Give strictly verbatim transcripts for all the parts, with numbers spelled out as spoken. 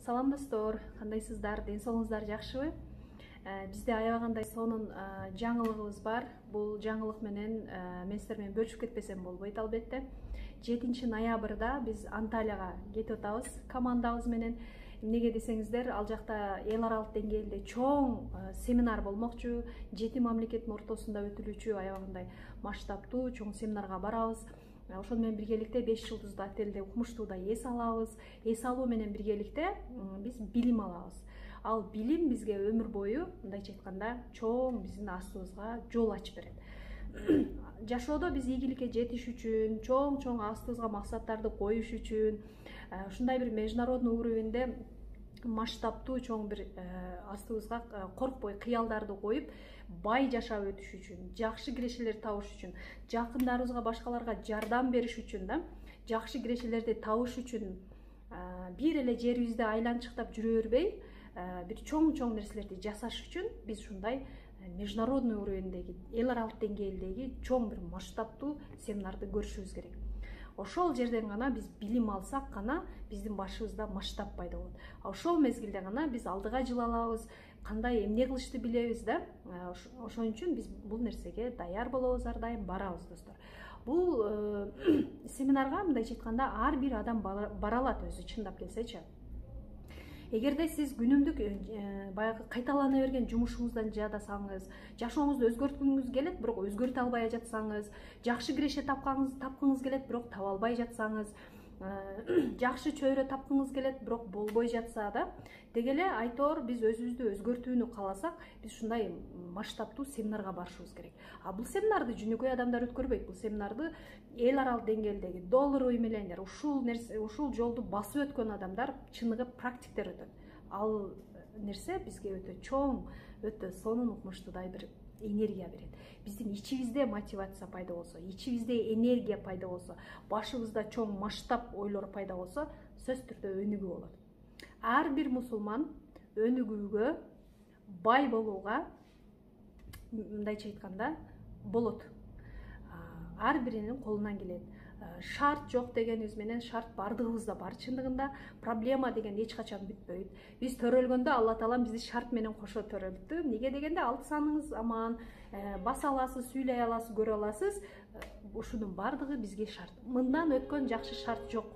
Салам достор, кандайсыздар? Ден соолугуңуздар жакшыбы? Бизде аябагандай сонун жаңылыгыбыз бар. Бул жаңылык менен мен сиздер менен бөлүшүп кетпесем болбойт албетте. жетинчи ноябрда биз Анталияга кетип атабыз командабыз менен. Эмнеге десеңиздер, ал жакта эл аралык деңгээлде чоң семинар болмокчу, жети мамлекеттин ортосунда өтүлүүчү аябагандай масштабтуу чоң семинарга барабыз. Ошону менен биргеликте беш жылдыздуу отелде укмуштууда эс алабыз. Эс алуу менен биргеликте биз билим алабыз. Ал билим бизге өмүр бою, мындайча айтканда, чоң биздин астыбызга жол ачып берет. Жашоодо биз ийгиликке жетиш үчүн, чоң-чоң астыбызга максаттарды коюш үчүн, ушундай бир международный уровеньде масштабтуу чоң бир астыбызга коркпой кыялдарды коюп, бай жашап өтүш үчүн, жакшы кирешелер табыш үчүн, жакындарыбызга, башкаларга жардам бериш үчүн да, жакшы кирешелерди табыш үчүн бир эле жерибизде айланчыктап жүрө бербей, бир чоң-чоң нерселерди жасаш үчүн биз ушундай международный уровеньдеги, эл аралык деңгээлдеги чоң бир масштабтуу семинарды көрүшүбүз керек. Ошол жерден гана биз билим алсак гана биздин башыбызда масштаб пайда болот. Ошол мезгилде гана биз алдыга жыла алабыз, кандай эмне кылышты билебиз да. Ошон үчүн биз бул нерсеге даяр болобуз, ар дайым барабыз достор. Бул семинарга мындайча айтканда ар бир адам бара алат өзү чындап келсечи. Эгерде сиз күнүмдүк баягы кайталана берген жумушуңуздан жадасаңыз, жашооңузду өзгөрткүңүз келет, бирок өзгөртө албай жатсаңыз, жакшы киреше тапканыңыз тапкыңыз келет, бирок таба албай жатсаңыз, жакшы чөйрө тапкыңыз келет, бирок болбой жатса да, деги эле айтор биз өзүбүздү өзгөртүүнү кааласак, биз ушундай масштабтуу семинарга барышыбыз керек. А бул семинарды жөнөкөй адамдар өткөрбөйт. Бул семинарды эл аралык деңгээлдеги долларовый миллионер, ушул нерсе, ушул жолду басып өткөн адамдар, чыныгы практиктер өтөт. Ал нерсе бизге өтө чоң, өтө сонун укмуштуудай бир энергия берет. Биздин ичибизде мотивация пайда болсо, ичибизде энергия пайда болсо, башыбызда чоң масштаб ойлор пайда болсо, сөзсүз түрдө өнүгүү болот. Ар бир мусулман өнүгүүгө, бай болууга, мындайча айтканда, болот. Ар биринин колунан келет. Шарт жок дегенибиз менен шарт бардыгыбызда бар. Чындыгында проблема деген эч качан бүтпөйт. Биз төрөлгөндө Алла Таалам бизди шарт менен кошо төрөлттү. Неге дегенде алты саныңыз аман, баса аласыз, сүйлөй аласыз, көрө аласыз. Ушунун бардыгы бизге шарт. Мындан өткөн жакшы шарт жок.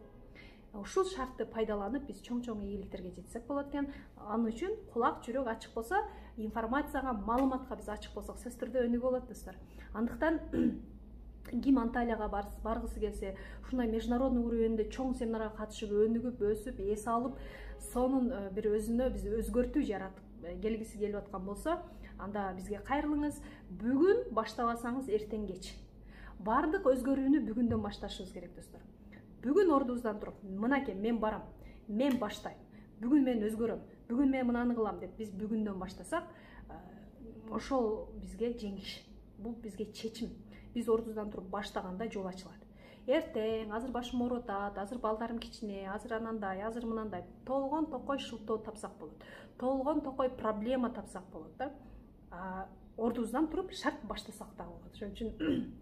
Ушул шартты пайдаланып биз чоң-чоң ийгиликтерге жетсек болот экен. Анын үчүн кулак, жүрөк ачык болсо, информацияга, маалыматка биз ачык болсок, сөзсүз түрдө өнүгүү болот достор. Андыктан ким Анталияга баргысы келсе, ушундай международный уровеньде чоң семинарга катышып, өнүгүп, өсүп, эс алып, сонун бир өзүнө биз өзгөртүү жаратып келгиси келип аткан болсо, анда бизге кайрылыңыз. Бүгүн баштабасаңыз эртең кеч. Бардык өзгөрүүнү бүгүндөн башташыбыз керек достор. Бүгүн ордубуздан туруп, мынакей мен барам, мен баштайм, бүгүн мен өзгөрөм, бүгүн мен мынаны кылам деп биз бүгүндөн баштасак, ошол бизге жеңиш. Бул бизге чечим. Биз ордубуздан туруп баштаганда жол ачылат. Эртең, азыр башым оорутат, азыр балдарым кичине, азыр анандай, азыр мынандай, толгон токой шылтоо тапсак болот. Толгон токой проблема тапсак болот да. Ордубуздан туруп шарт баштасак да болот. Ошон үчүн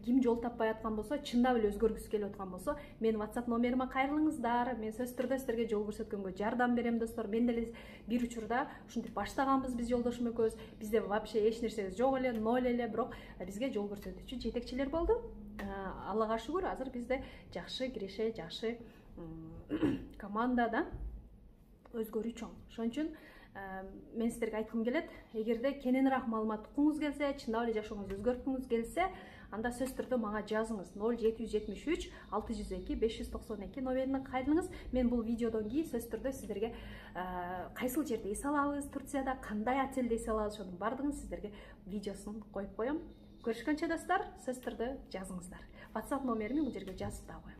ким жол таппай аткан болсо, чындап эле өзгөргүсү келип аткан болсо, менин WhatsApp номериме кайрылыңыздар. Мен сөзсүз түрдө сиздерге жол көрсөткөнгө жардам берем достор. Мен деле бир учурда ушинтип баштаганбыз биз жолдошум экөөбүз. Бизде вообще эч нерсе жок эле, ноль эле, бирок бизге жол көрсөтүүчү жетекчилер болду. Аллага шүгүр, азыр бизде жакшы киреше, жакшы команда да өзгөрүү чоң. Ошон үчүн мен сиздерге айткым келет, эгерде кененирээк маалымат уккуңуз келсе, чындап эле жашооңузду өзгөрткүңүз келсе, анда сөзсүз түрдө мага жазыңыз. ноль жети жүз жетимиш үч алты жүз эки беш жүз токсон эки номерине кайрылыңыз. Мен бул видеодон кийин сөзсүз түрдө сиздерге кайсыл жерде эс алабыз, Турцияда кандай отельде эс алабыз, ошонун бардыгын сиздерге видеосун коюп коем. Көрүшкөнчө достор, сөзсүз түрдө жазыңыздар. WhatsApp номерими бул жерге жазып да коем.